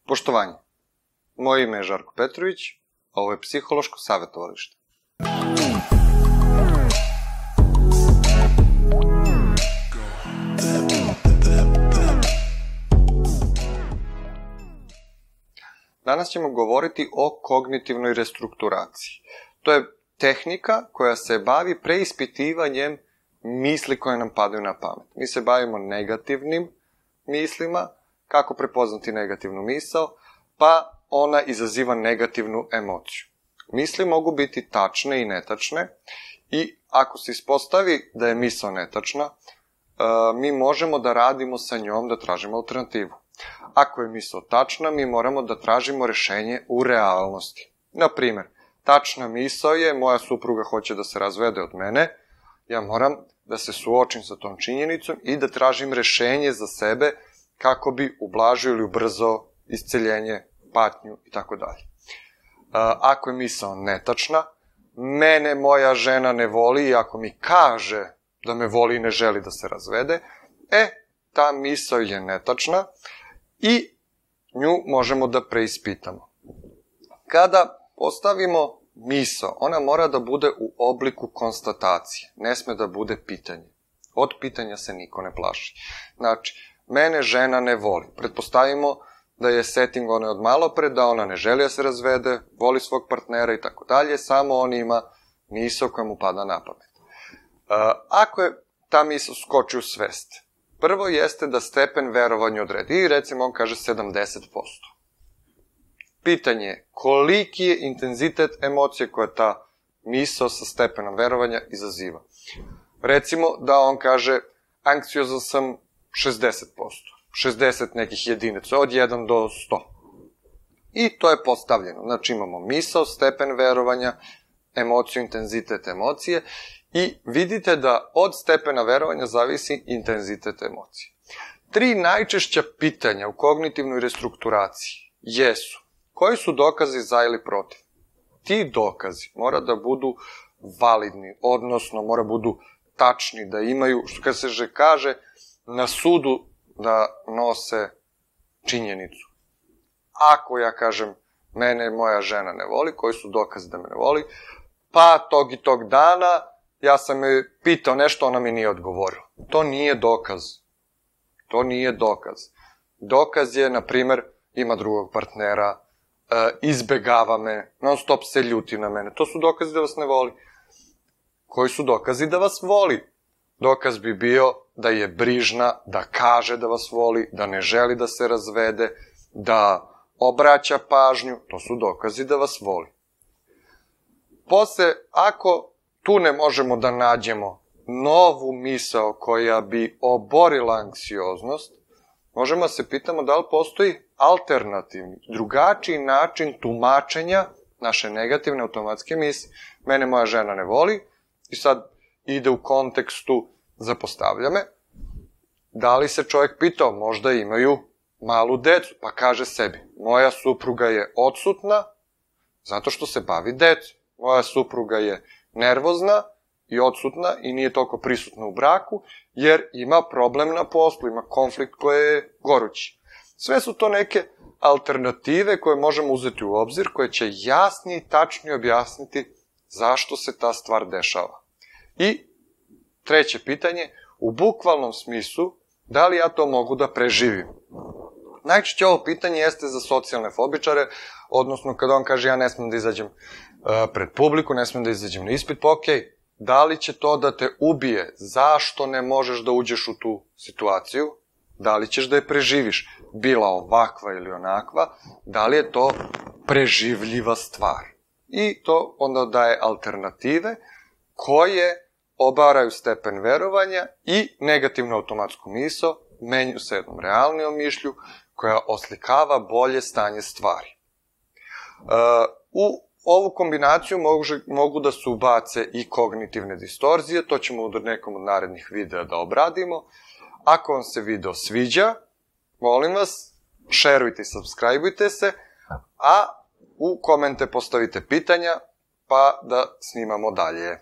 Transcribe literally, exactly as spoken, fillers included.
Poštovanje. Moje ime je Žarko Petrović, a ovo je Psihološko savjetovalište. Danas ćemo govoriti o kognitivnoj restrukturaciji. To je tehnika koja se bavi preispitivanjem misli koje nam padaju na pamet. Mi se bavimo negativnim mislima, kako prepoznati negativnu misao, pa ona izaziva negativnu emociju. Misli mogu biti tačne i netačne i ako se ispostavi da je misao netačna, mi možemo da radimo sa njom, da tražimo alternativu. Ako je misao tačna, mi moramo da tražimo rešenje u realnosti. Na primjer, tačna misao je moja supruga hoće da se razvede od mene, ja moram da se suočim sa tom činjenicom i da tražim rešenje za sebe kako bi ublažio ili ubrzao isceljenje, patnju i tako dalje. Ako je misao netačna, mene moja žena ne voli i ako mi kaže da me voli i ne želi da se razvede, e, ta misao je netačna i nju možemo da preispitamo. Kada postavimo misao, ona mora da bude u obliku konstatacije, ne sme da bude pitanje. Od pitanja se niko ne plaši. Znači, mene žena ne voli. Pretpostavimo da je setting one od malo pre, da ona ne želi da se razvede, voli svog partnera i tako dalje, samo on ima misao koja mu pada na pamet. Ako je ta misao skoči u svest, prvo jeste da stepen verovanja odredi i recimo on kaže sedamdeset posto. Pitanje je koliki je intenzitet emocije koja ta misao sa stepenom verovanja izaziva. Recimo da on kaže anksiozan sam šezdeset posto, šezdeset nekih jedinica, od jedan do sto. I to je postavljeno. Znači imamo misao, stepen verovanja, emociju, intenzitet emocije i vidite da od stepena verovanja zavisi intenzitet emocije. Tri najčešća pitanja u kognitivnoj restrukturaciji jesu: koji su dokazi za ili protiv? Ti dokazi mora da budu validni, odnosno mora budu tačni, da imaju, što kad se kaže, na sudu da nose činjenicu. Ako ja kažem, mene moja žena ne voli, koji su dokazi da me ne voli? Pa tog i tog dana ja sam je pitao nešto, ona mi nije odgovorila. To nije dokaz. To nije dokaz. Dokaz je, na primer, ima drugog partnera, izbegava me, non stop se ljuti na mene. To su dokazi da vas ne voli. Koji su dokazi da vas voli? Dokaz bi bio da je brižna, da kaže da vas voli, da ne želi da se razvede, da obraća pažnju. To su dokazi da vas voli. Posle, ako tu ne možemo da nađemo novu misao koja bi oborila anksioznost, možemo da se pitamo da li postoji alternativni, drugačiji način tumačenja naše negativne automatske misli. Mene moja žena ne voli i sad ide u kontekstu zapostavlja me. Da li se čovjek pitao, možda imaju malu decu, pa kaže sebi, moja supruga je odsutna zato što se bavi decom. Moja supruga je nervozna i odsutna i nije toliko prisutna u braku, jer ima problem na poslu, ima konflikt koji je gorući. Sve su to neke alternative koje možemo uzeti u obzir, koje će jasnije i tačnije objasniti zašto se ta stvar dešava. I treće pitanje, u bukvalnom smislu, da li ja to mogu da preživim? Najčešće ovo pitanje jeste za socijalne fobičare, odnosno kada on kaže ja ne smem da izađem pred publiku, ne smem da izađem na ispit, pa okej, da li će to da te ubije? Zašto ne možeš da uđeš u tu situaciju? Da li ćeš da je preživiš? Bila ovakva ili onakva, da li je to preživljiva stvar? I to onda daje alternative koje obaraju stepen verovanja i negativnu automatsku misao, menju se jednom realnijom mišlju koja oslikava bolje stanje stvari. U ovu kombinaciju mogu da se ubace i kognitivne distorzije, to ćemo u nekom od narednih videa da obradimo. Ako vam se video sviđa, molim vas, šerujte i subscribeujte se, a u komente postavite pitanja, pa da snimamo dalje.